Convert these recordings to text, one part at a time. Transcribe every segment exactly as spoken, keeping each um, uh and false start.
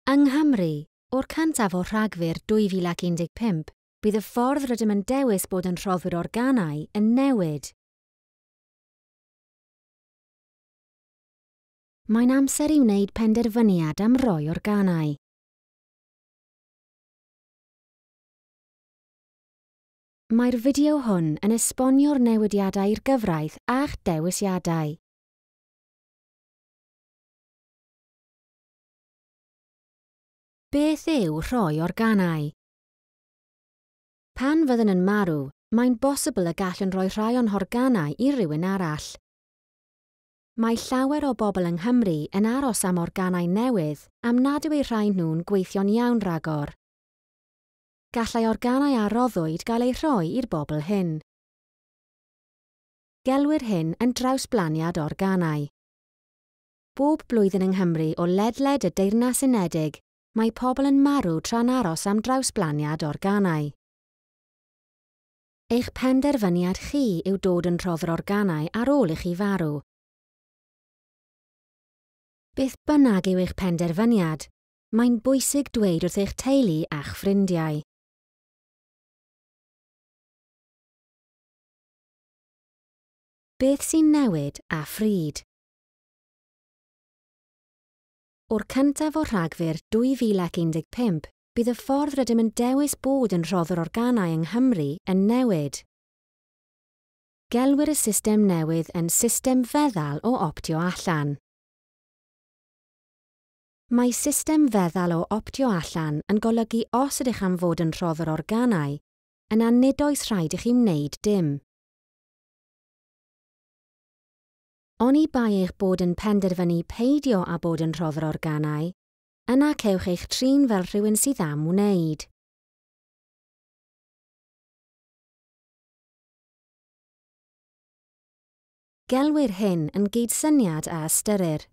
Yng Nghymru, o'r cyntaf o Rhagfyr dwy fil ac un deg pump, bydd y ffordd rydym yn dewis bod yn rhoddwyr organau yn newid. Mae'n amser i wneud penderfyniad am roi organau. Mae'r fideo hwn yn esbonio'r newidiadau i'r gyfraith a'ch dewisiadau. Beth yw rhoi organau? Pan fyddwn yn marw, mae'n bosibl y gallwn roi rhai o'n horganau i rywun arall. Mae llawer o bobl yng Nghymru yn aros am organau newydd am nad yw eu rhai nhw'n gweithio'n iawn rhagor. Gallai organau a roddwyd gael eu rhoi i'r bobl hyn. Gelwir hyn yn drawsblaniad organau. Bob blwyddyn yng Nghymru o ledled y Deyrnas Unedig, mae pobl yn marw tra'n aros am drawsblaniad organau. Eich penderfyniad chi yw dod yn rhoddwr organau ar ôl i chi farw. Beth bynnag yw eich penderfyniad, mae'n bwysig dweud wrth eich teulu a'ch ffrindiau. Beth sy'n newid a phryd? O'r cyntaf o Rhagfyr dwy fil ac un deg pump, bydd y ffordd rydym yn dewis bod yn rhoddwr organau yng Nghymru yn newid. Gelwir y system newydd yn system feddal o optio allan. Mae system feddal o optio allan yn golygu os ydych am fod yn rhoddwr organau, yna nid oes rhaid i chi wneud dim. Oni bai eich bod yn penderfynu peidio â bod yn rhoddwr organau, yna cewch eich trin fel rhywun sydd am wneud. Gelwir hyn yn gydsyniad a ystyrir.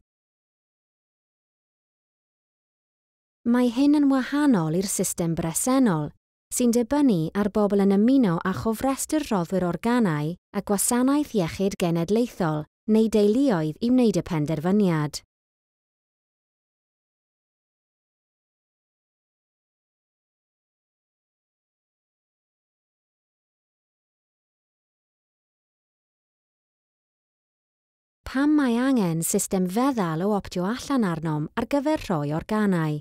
Mae hyn yn wahanol i'r system bresennol, sy'n dibynnu ar bobl yn ymuno â chofrestr rhoddwyr organau a gwasanaeth iechyd genedlaethol neu deuluoedd i wneud y penderfyniad. Pam mae angen system feddal o optio allan arnom ar gyfer rhoi organau?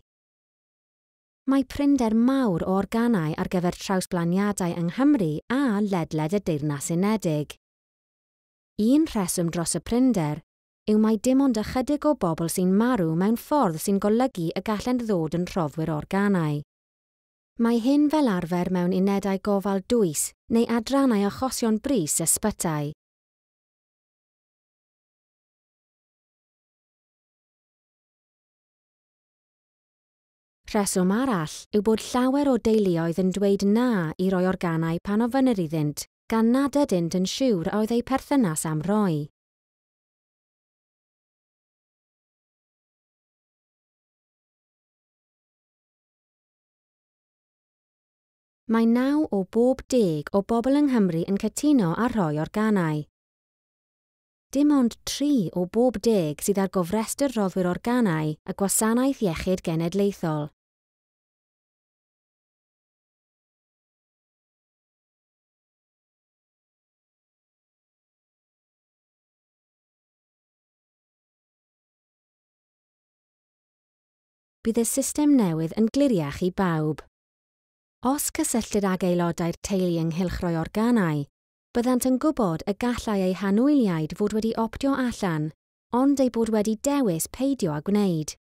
Mae prinder mawr o organau ar gyfer trawsblaniadau yng Nghymru a ledled y Deyrnas Unedig. Un rheswm dros y prinder yw mai dim ond ychydig o bobl sy'n marw mewn ffordd sy'n golygu y gallent ddod yn rhoddwyr organau. Mae hyn fel arfer mewn unedau gofal dwys neu adrannau achosion brys ysbytai. Rheswm arall yw bod llawer o deuluoedd yn dweud na i roi organau pan ofynnir iddynt, gan nad ydynt yn siŵr a oedd eu perthynas am roi. Mae naw o bob deg o bobl yng Nghymru yn cytuno ar roi organau. Dim ond tri o bob deg sydd ar gofrestr rhoddwyr organau a gwasanaeth iechyd genedlaethol. Bydd y system newydd yn gliriach i bawb. Os cysylltir ag aelodau'r teulu ynghylch rhoi organau, byddant yn gwybod y gallai eu hanwyliaid fod wedi optio allan, ond eu bod wedi dewis peidio â gwneud.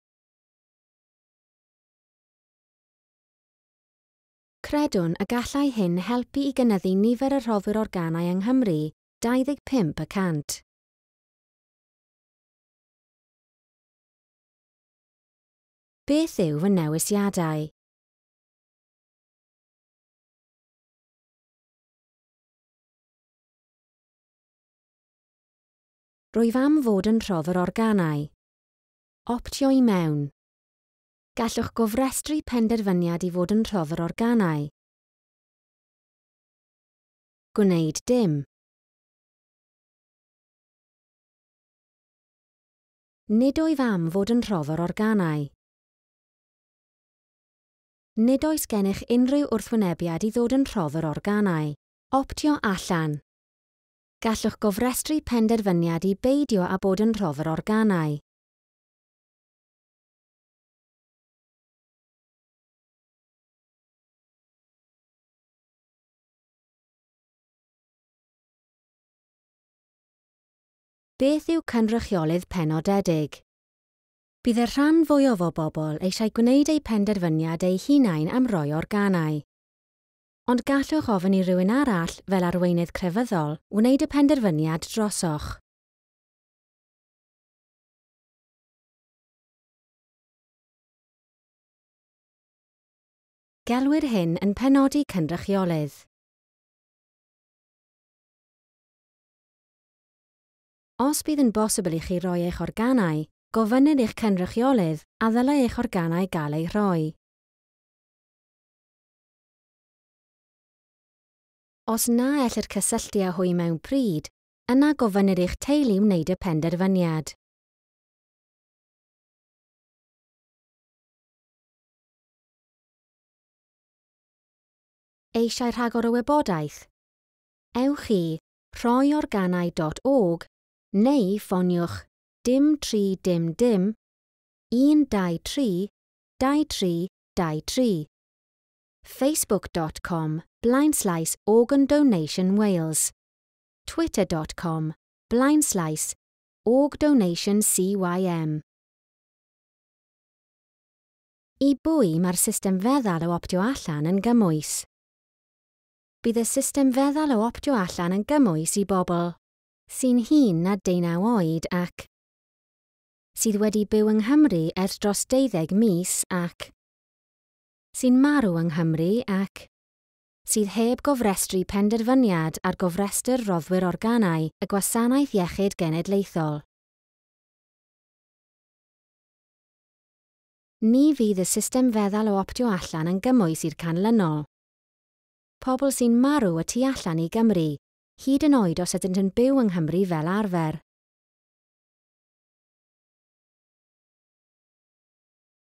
Credwn y gallai hyn helpu i gynyddu nifer y rhoddwyr organau yng Nghymru dau ddeg pump y cant. Beth yw fy newisiadau? Rwyf am fod yn rhoddwr organau. Optio i mewn. Gallwch gofrestru penderfyniad i fod yn rhoddwr organau. Gwneud dim. Nid wyf am fod yn rhoddwr organau. Nid oes gennych unrhyw wrthwynebiad i ddod yn rhoddwr organau. Optio allan. Gallwch gofrestru penderfyniad i beidio â bod yn rhoddwr organau. Beth yw cynrychiolydd penodedig? Bydd y rhan fwyaf o bobl eisiau gwneud eu penderfyniad eu hunain am roi organau. Ond gallwch ofyn i rywun arall, fel arweinydd crefyddol, wneud y penderfyniad drosoch. Gelwir hyn yn penodi cynrychiolydd. Os bydd yn bosibl i chi roi eich organau, gofynnir i'ch cynrychiolydd a ddylai eich organau gael eu rhoi. Os na ellir cysylltu â hwy mewn pryd, yna gofynnir i'ch teulu wneud y penderfyniad. Eisiau rhagor o wybodaeth? Ewch i rhoi organau dot org neu ffoniwch dim tri dim dim, un dau tri, dau tri, dau tri. Facebook dot com blaenslaes Organ Donation Wales. Twitter dot com blaenslaes Org Donation C Y M. I bwy mae'r system feddal o optio allan yn gymwys? Bydd y system feddal o optio allan yn gymwys i bobl sy'n hŷn na deunaw oed ac sydd wedi byw yng Nghymru ers dros deuddeg mis ac sy'n marw yng Nghymru ac sydd heb gofrestru penderfyniad ar gofrestr roddwyr organau y Gwasanaeth Iechyd Genedlaethol. Ni fydd y system feddal o optio allan yn gymwys i'r canlynol. Pobl sy'n marw y tu allan i Gymru, hyd yn oed os ydynt yn byw yng Nghymru fel arfer.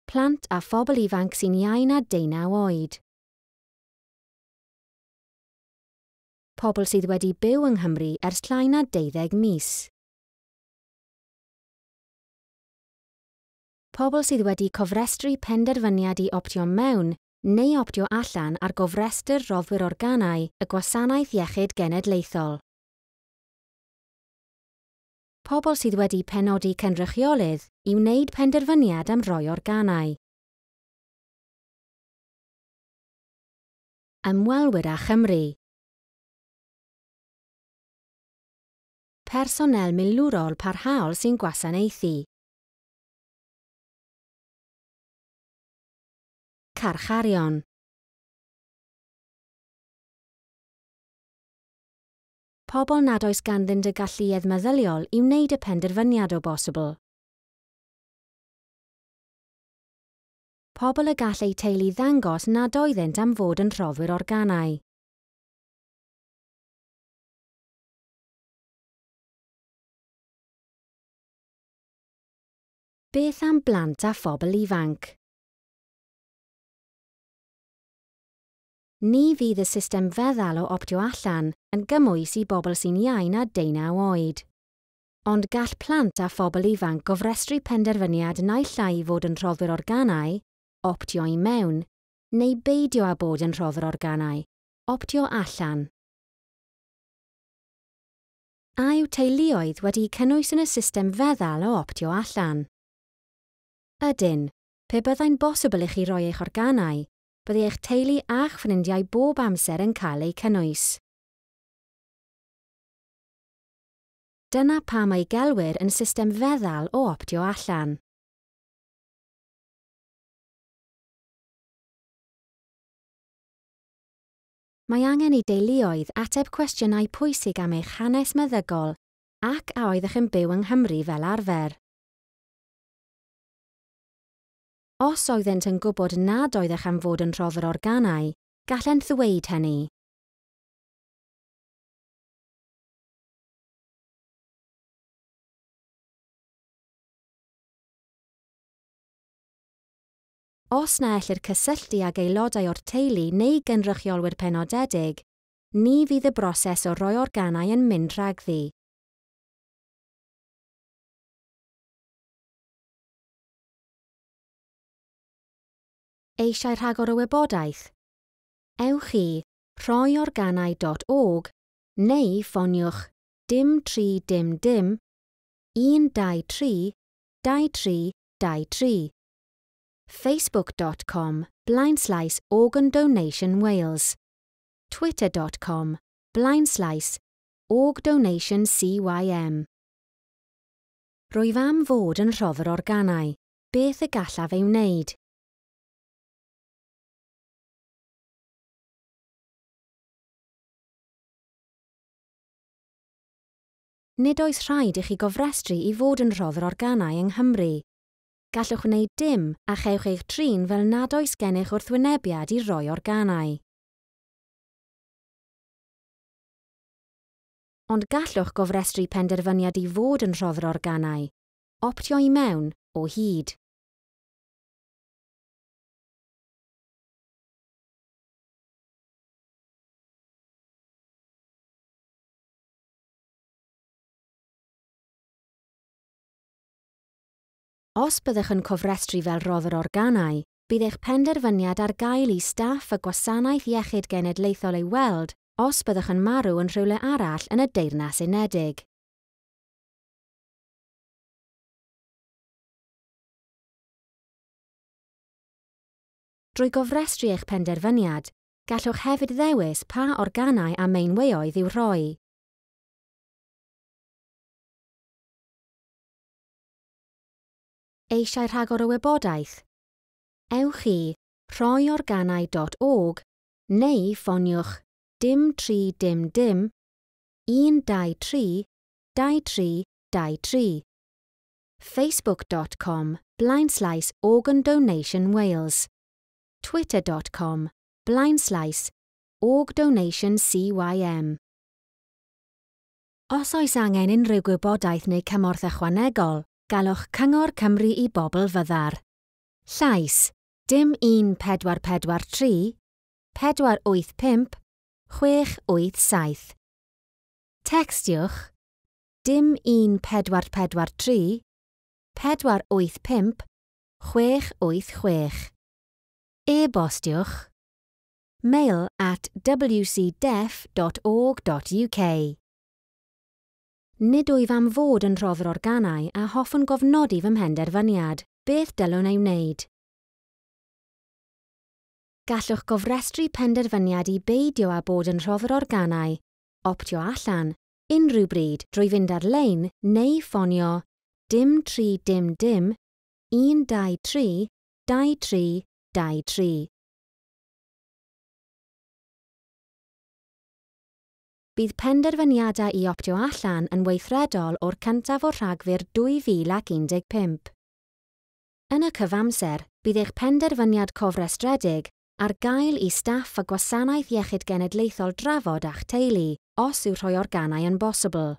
Plant a phobl ifanc sy'n iau na deunaw oed. Pobl sydd wedi byw yng Nghymru ers llai na deuddeg mis. Pobl sydd wedi cofrestru penderfyniad i optio mewn neu optio allan ar gofrestr roddwyr organau y Gwasanaeth Iechyd Genedlaethol. Pobl sydd wedi penodi cynrychiolydd i wneud penderfyniad am roi organau. Ymwelwyr â Chymru. Personel milwrol parhaol sy'n gwasanaethu. Carcharion. Pobl nad oes ganddynt y galluedd meddyliol i wneud y penderfyniad o bosibl. Pobl y gall eu teulu ddangos nad oeddynt am fod yn rhoddwyr organau. Beth am blant a phobl ifanc? Ni fydd y system feddal o optio allan yn gymwys i bobl sy'n iau na deunaw oed. Ond gall plant a phobl ifanc gofrestru penderfyniad naill ai i fod yn rhoddwyr organau, optio i mewn, neu beidio â bod yn rhoddwr organau, optio allan. A yw teuluoedd wedi'u cynnwys yn y system feddal o optio allan? Ydyn, pe byddai'n bosibl i chi roi eich organau, byddai eich teulu a'ch ffrindiau bob amser yn cael eu cynnwys. Dyna pam ei gelwir yn system feddal o optio allan. Mae angen i deuluoedd ateb cwestiynau pwysig am eich hanes meddygol ac a oeddech yn byw yng Nghymru fel arfer. Os oeddent yn gwybod nad oeddech am fod yn rhoddwr organau, gallent ddweud hynny. Os na ellir cysylltu ag aelodau o'r teulu neu gynrychiolwyr penodedig, ni fydd y broses o roi organau yn mynd rhagddi. Eisiau rhagor o wybodaeth? Ewch i rhoi organau dot org neu ffoniwch dim tri dim dim un dau tri dau tri dau tri. Facebook dot com blaenslaes Organ Donation Wales. Twitter dot com blaenslaes Org Donation C Y M. Rwyf am fod yn rhoddwr organau. Beth y gallaf ei wneud? Nid oes rhaid i chi gofrestru i fod yn rhoddwr organau yng Nghymru. Gallwch wneud dim a chewch eich trin fel nad oes gennych wrthwynebiad i roi organau. Ond gallwch gofrestru penderfyniad i fod yn rhoddwr organau. Optio i mewn o hyd. Os byddwch yn cofrestru fel rhoddwr organau, bydd eich penderfyniad ar gael i staff y Gwasanaeth Iechyd Genedlaethol ei weld os byddwch yn marw yn rhywle arall yn y Deyrnas Unedig. Drwy gofrestru eich penderfyniad, gallwch hefyd ddewis pa organau a meinweoedd i'w rhoi. Eisiau rhagor o wybodaeth? Ewch i rhoi organau dot org neu ffoniwch dim tri dim dim un dau tri dau tri dau tri. Facebook dot com blaenslaes Organ Donation Wales. Twitter dot com blaenslaes Org Donation C Y M. Os oes angen unrhyw gwybodaeth neu cymorth ychwanegol, galwch Cyngor Cymru i Bobl Fyddar. Llais dim un pedwar pedwar tri, pedwar wyth pump, chwech wyth saith. Textiwch dim un pedwar pedwar tri, pedwar wyth pump, chwech wyth chwech. E-bostiwch mail at w c deaf dot org dot U K. Nid wyf am fod yn rhoddwr organau a hoffwn gofnodi fy mhenderfyniad. Beth dylwn ei wneud? Gallwch gofrestru penderfyniad i beidio â bod yn rhoddwr organau, optio allan, unrhyw bryd drwy fynd ar-lein neu ffonio dim tri dim dim un dau tri dau tri dau tri. Bydd penderfyniadau i optio allan yn weithredol o'r cyntaf o Rhagfyr dwy fil ac un deg pump. Yn y cyfamser, bydd eich penderfyniad cofrestredig ar gael i staff y Gwasanaeth Iechyd Genedlaethol drafod a'ch teulu os yw rhoi organau yn bosibl.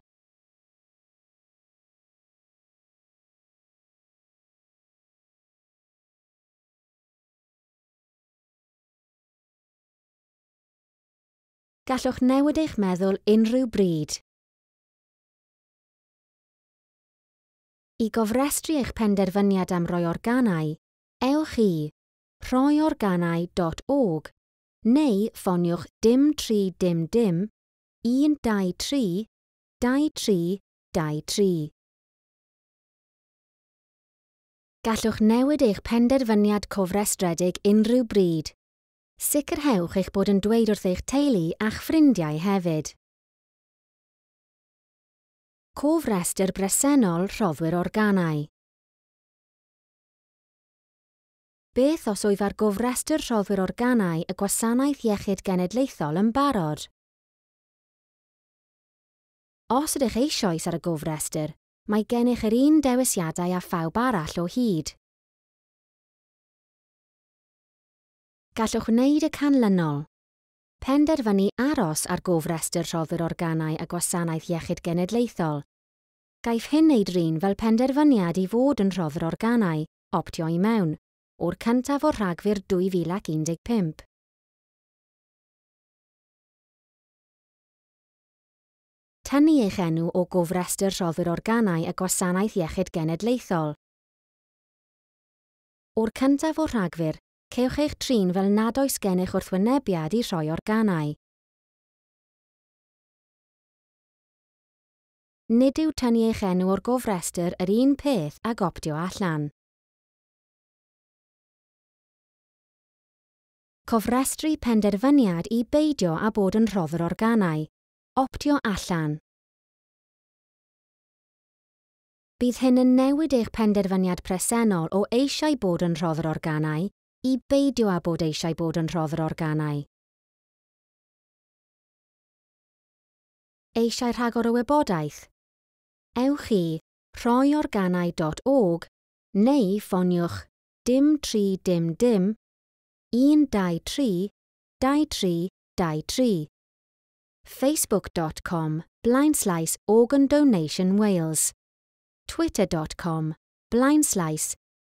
Gallwch newid eich meddwl unrhyw bryd. I gofrestru eich penderfyniad am roi organau, ewch i rhoi organau dot org neu ffoniwch dim tri dim dim un dau tri dau tri dau tri. Gallwch newid eich penderfyniad cofrestredig unrhyw bryd. Sicrhewch eich bod yn dweud wrth eich teulu a'ch ffrindiau hefyd. Cofrestr bresennol rhoddwyr organau. Beth os wyf ar gofrestr rhoddwyr organau y Gwasanaeth Iechyd Genedlaethol yn barod? Os ydych eisoes ar y gofrestr, mae gennych yr un dewisiadau â phawb arall o hyd. Gallwch wneud y canlynol. Penderfynu aros ar gofrestr rhoddwyr organau a Gwasanaeth Iechyd Genedlaethol. Gaiff hyn ei drin fel penderfyniad i fod yn rhoddwr organau, optio i mewn, o'r cyntaf o Rhagfyr dwy fil ac un deg pump. Tynnu eich enw o gofrestr rhoddwyr organau y Gwasanaeth Iechyd Genedlaethol. O'r cyntaf o Rhagfyr, cewch eich trin fel nad oes gennych wrthwynebiad i rhoi organau. Nid yw tynnu eich enw o'r gofrestr yr un peth ag optio allan. Cofrestru penderfyniad i beidio â bod yn rhoddwr organau. Optio allan. Bydd hyn yn newid eich penderfyniad presennol o eisiau bod yn rhoddwr organau i beidio â bod eisiau bod yn rhoddwr organau. Eisiau rhagor o wybodaeth? Ewch i rhoi organau dot org neu ffoniwch dim tri dim dim un dau tri dau tri dau tri. Facebook dot com blaenslaes Organ Donation Wales. Twitter dot com blaenslaes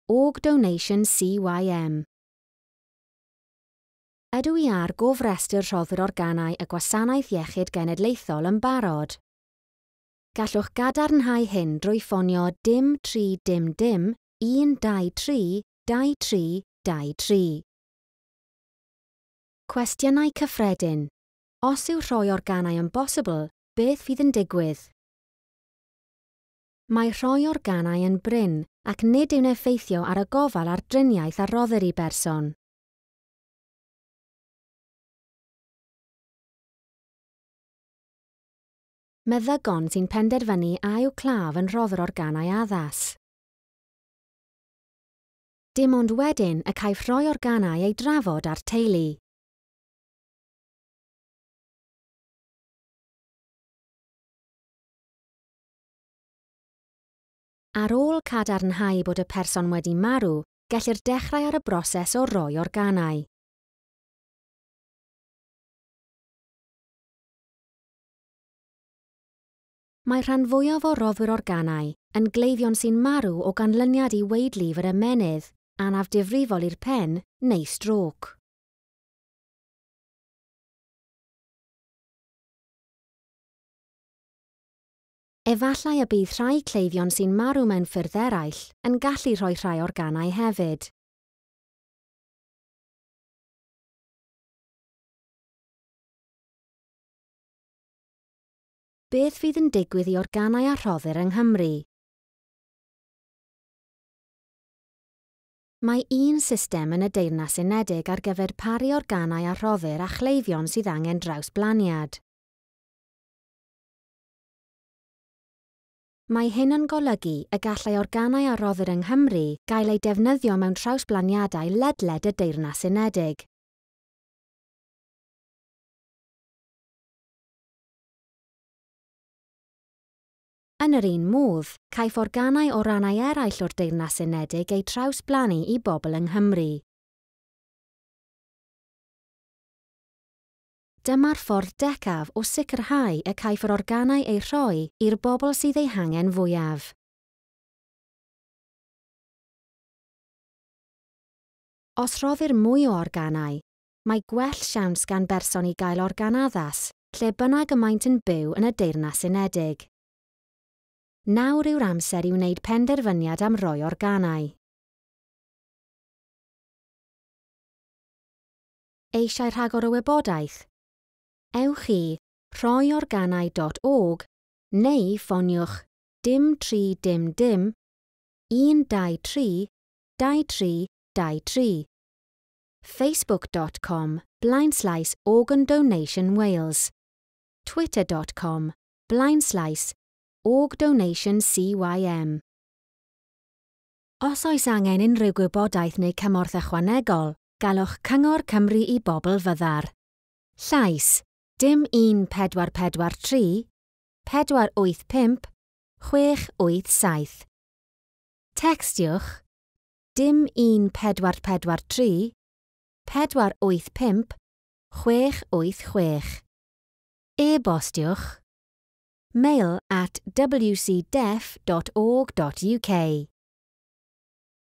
Org Donation C Y M. Ydw i ar gofrestr rhoddwyr organau y Gwasanaeth Iechyd Genedlaethol yn barod? Gallwch gadarnhau hyn drwy ffonio dim tri dim dim un dau tri dau tri dau tri. Cwestiynau cyffredin. Os yw rhoi organau yn bosibl, beth fydd yn digwydd? Mae rhoi organau yn brin ac nid yw'n effeithio ar y gofal a'r driniaeth a roddir i berson. Meddygon sy'n penderfynu a yw claf yn rhoddwr organau addas. Dim ond wedyn y caiff rhoi organau ei drafod â'r teulu. Ar ôl cadarnhau bod y person wedi marw, gellir dechrau ar y broses o roi organau. Mae rhan fwyaf o roddwyr organau yn gleifion sy'n marw o ganlyniad i waedlif yr ymennydd, anaf difrifol i'r pen neu strôc. Efallai y bydd rhai cleifion sy'n marw mewn ffyrdd eraill yn gallu rhoi rhai organau hefyd. Beth fydd yn digwydd i organau a rhoddir yng Nghymru? Mae un system yn y Deyrnas Unedig ar gyfer paru organau a rhoddir a chleifion sydd angen drawsblaniad. Mae hyn yn golygu y gallai organau a roddir yng Nghymru gael eu defnyddio mewn trawsblaniadau ledled y Deyrnas Unedig. Yn yr un modd, caiff organau o rannau eraill o'r Deyrnas Unedig eu trawsblannu i bobl yng Nghymru. Dyma'r ffordd decaf o sicrhau y caiff yr organau eu rhoi i'r bobl sydd eu hangen fwyaf. Os rhoddir mwy o organau, mae gwell siawns gan berson i gael organ addas, lle bynnag y maent yn byw yn y Deyrnas Unedig. Nawr yw'r amser i wneud penderfyniad am roi organau. Eisiau rhagor o wybodaeth? Ewch i rhoi organau dot org neu ffoniwch dim tri dim dim un dau tri dau tri dau tri. Facebook dot com blaenslaes Organ Donation Wales. Twitter dot com blaenslaes Org Donation C Y M. Os oes angen unrhyw gwybodaeth neu cymorth ychwanegol, galwch Cyngor Cymru i Bobl Fyddar. Llais, dim un pedwar pedwar tri, pedwar wyth pump, chwech wyth saith. Textiwch, dim un pedwar pedwar tri, pedwar wyth pump, chwech wyth chwech. E-bostiwch, mail at w c deaf dot org dot U K.